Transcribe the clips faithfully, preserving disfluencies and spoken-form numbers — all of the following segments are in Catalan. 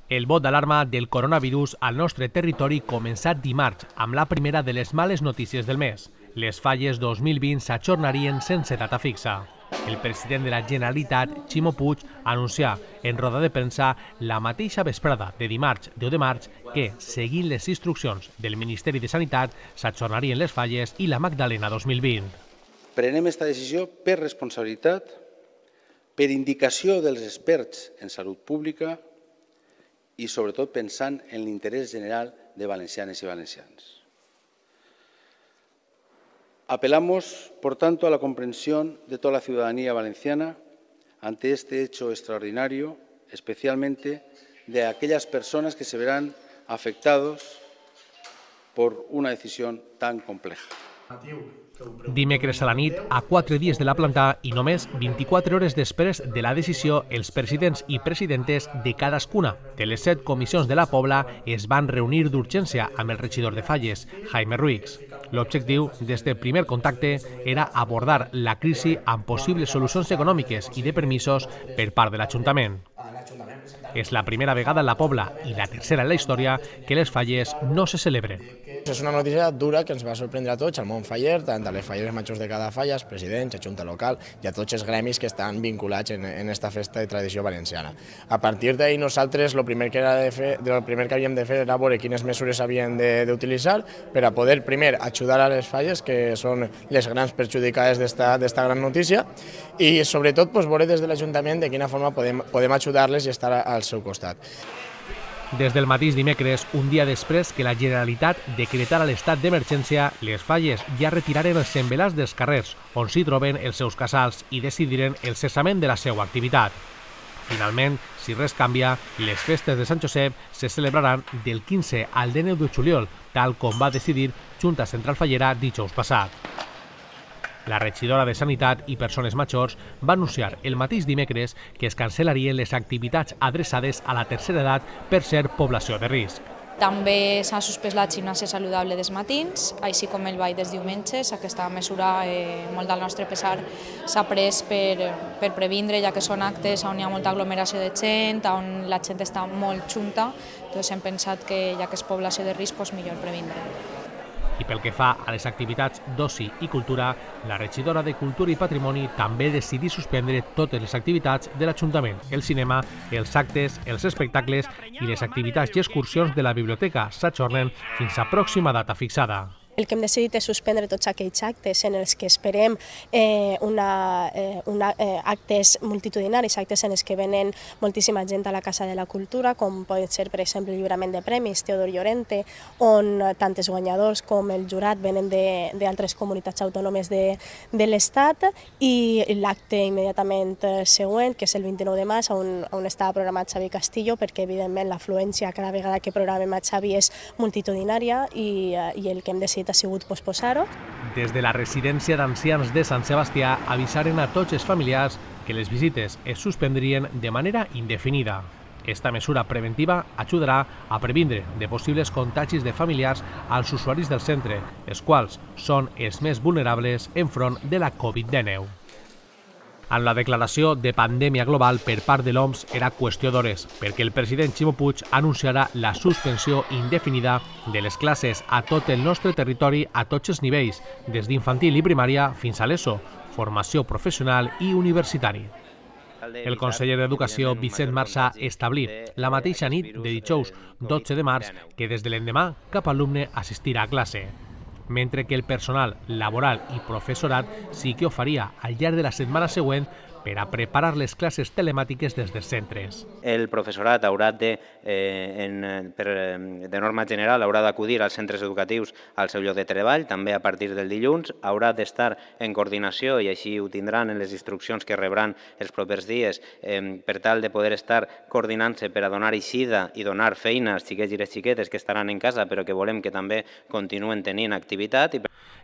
El vot d'alarma del coronavirus al nostre territori començà dimarts amb la primera de les males notícies del mes. Les falles dos mil vint s'ajornarien sense data fixa. El president de la Generalitat, Ximo Puig, anuncià en roda de premsa la mateixa vesprada de dimarts deu de març que, seguint les instruccions del Ministeri de Sanitat, s'ajornarien les falles i la Magdalena dos mil vint. Prenem aquesta decisió per responsabilitat, per indicació dels experts en salut pública y sobre todo pensant en l'interès general de valencianes y valencians. Apelamos, por tanto, a la comprensión de toda la ciudadanía valenciana ante este hecho extraordinario, especialmente de aquellas personas que se verán afectados por una decisión tan compleja. Dimecres a la nit, a quatre dies de la planta i només vint-i-quatre hores després de la decisió, els presidents i presidentes de cadascuna de les set comissions de la Pobla es van reunir d'urgència amb el regidor de Falles, Jaime Ruiz. L'objectiu d'este primer contacte era abordar la crisi amb possibles solucions econòmiques i de permisos per part de l'Ajuntament. És la primera vegada en la Pobla i la tercera en la història que les falles no se celebren. És una notícia dura que ens va sorprendre a tots, al món faller, tant a les falleres majors de cada falla, els presidents, a Junta Local i a tots els gremis que estan vinculats en, en esta festa de tradició valenciana. A partir d'ahir nosaltres el primer que, era de fer, el primer que havíem de fer era veure quines mesures havien d'utilitzar per a poder, primer, ajudar a les falles, que són les grans perjudicades d'esta gran notícia, i sobretot pues, veure des de l'Ajuntament de quina forma podem, podem ajudar-les i estar al seu costat. Des del mateix dimecres, un dia després que la Generalitat decretara l'estat d'emergència, les falles ja retiraren els semblants dels carrers on s'hi troben els seus casals i decidiren el cessament de la seva activitat. Finalment, si res canvia, les festes de Sant Josep se celebraran del quinze al dinou de juliol, tal com va decidir Junta Central Fallera dijous passat. La regidora de Sanitat i Persones Majors va anunciar el mateix dimecres que es cancel·larien les activitats adreçades a la tercera edat per ser població de risc. També s'ha suspès la gimnàsia saludable dels matins, així com el ball dels diumenges. Aquesta mesura, eh, molt al nostre pesar, s'ha pres per, per previndre, ja que són actes on hi ha molta aglomeració de gent, on la gent està molt junta, doncs hem pensat que, ja que és població de risc, doncs millor previndre. I pel que fa a les activitats d'oci i cultura, la regidora de Cultura i Patrimoni també decidí suspendre totes les activitats de l'Ajuntament, el cinema, els actes, els espectacles i les activitats i excursions de la biblioteca s'ajornen fins a pròxima data fixada. El que hem decidit és suspendre tots aquells actes en els que esperem eh, una, eh, una, eh, actes multitudinaris, actes en els que venen moltíssima gent a la Casa de la Cultura, com pot ser, per exemple, el lliurament de premis Teodor Llorente, on tant els guanyadors com el jurat venen d'altres comunitats autònomes de, de l'Estat, i l'acte immediatament següent, que és el vint-i-nou de març, on, on estava programat Xavi Castillo, perquè evidentment l'afluència cada vegada que programem a Xavi és multitudinària i, i el que hem decidit ha sigut posposar-ho. Des de la residència d'ancians de Sant Sebastià avisaren a tots els familiars que les visites es suspendrien de manera indefinida. Esta mesura preventiva ajudarà a previndre de possibles contagis de familiars als usuaris del centre, els quals són els més vulnerables enfront de la Covid dinou. En la declaració de pandèmia global per part de l'O M S era qüestió d'hores, perquè el president Ximo Puig anunciarà la suspensió indefinida de les classes a tot el nostre territori a tots els nivells, des d'infantil i primària fins a l'ESO, formació professional i universitari. El conseller d'Educació, Vicent Marsà, establí la mateixa nit de dijous dotze de març que des de l'endemà cap alumne assistirà a classe, mentre que el personal laboral i professorat sí que ho faria al llarg de la setmana següent per a preparar les classes telemàtiques des dels centres. El professorat haurà de, eh, en, per, de norma general, haurà d'acudir als centres educatius al seu lloc de treball, també a partir del dilluns, haurà d'estar en coordinació, i així ho tindran en les instruccions que rebran els propers dies, eh, per tal de poder estar coordinant-se per a donar eixida i donar feina als xiquets i les xiquetes que estaran en casa, però que volem que també continuen tenint activitat.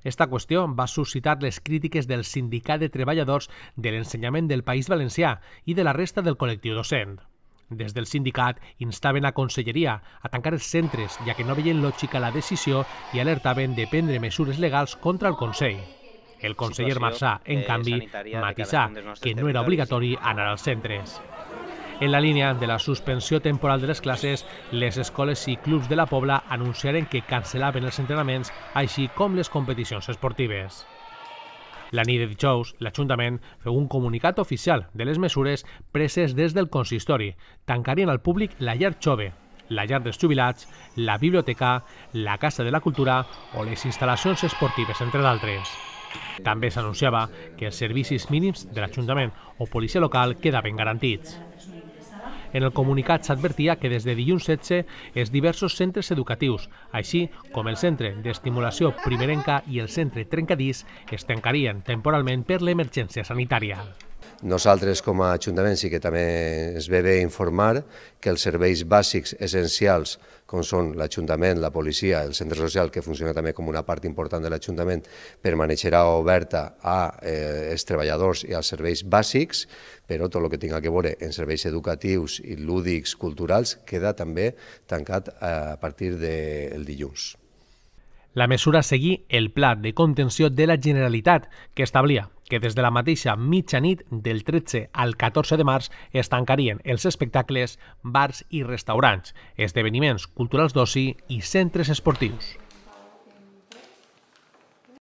Esta qüestió va suscitar les crítiques del Sindicat de Treballadors de l'Ensenyament del País Valencià i de la resta del col·lectiu docent. Des del sindicat instaven a Conselleria a tancar els centres, ja que no veien lògica la decisió i alertaven de prendre mesures legals contra el Consell. El conseller Marsà, en canvi, matisà que no era obligatori anar als centres. En la línia de la suspensió temporal de les classes, les escoles i clubs de la Pobla anunciaren que cancel·laven els entrenaments, així com les competicions esportives. La nit de dijous, l'Ajuntament feu un comunicat oficial de les mesures preses des del consistori. Tancarien al públic la llar jove, la llar dels jubilats, la biblioteca, la Casa de la Cultura o les instal·lacions esportives, entre d'altres. També s'anunciava que els servicis mínims de l'Ajuntament o policia local quedaven garantits. En el comunicat s'advertia que des de dilluns setze els diversos centres educatius, així com el Centre d'Estimulació Primerenca i el Centre Trencadís, es tancarien temporalment per l'emergència sanitària. Nosaltres, com a Ajuntament, sí que també es ve bé informar que els serveis bàsics essencials, com són l'Ajuntament, la policia, el centre social, que funciona també com una part important de l'Ajuntament, permanecerà oberta als treballadors i als serveis bàsics, però tot el que tinga a veure en serveis educatius i lúdics, culturals, queda també tancat a partir del dilluns. La mesura seguí el pla de contenció de la Generalitat, que establia que des de la mateixa mitjanit del tretze al catorze de març es tancarien els espectacles, bars i restaurants, esdeveniments culturals d'oci i centres esportius.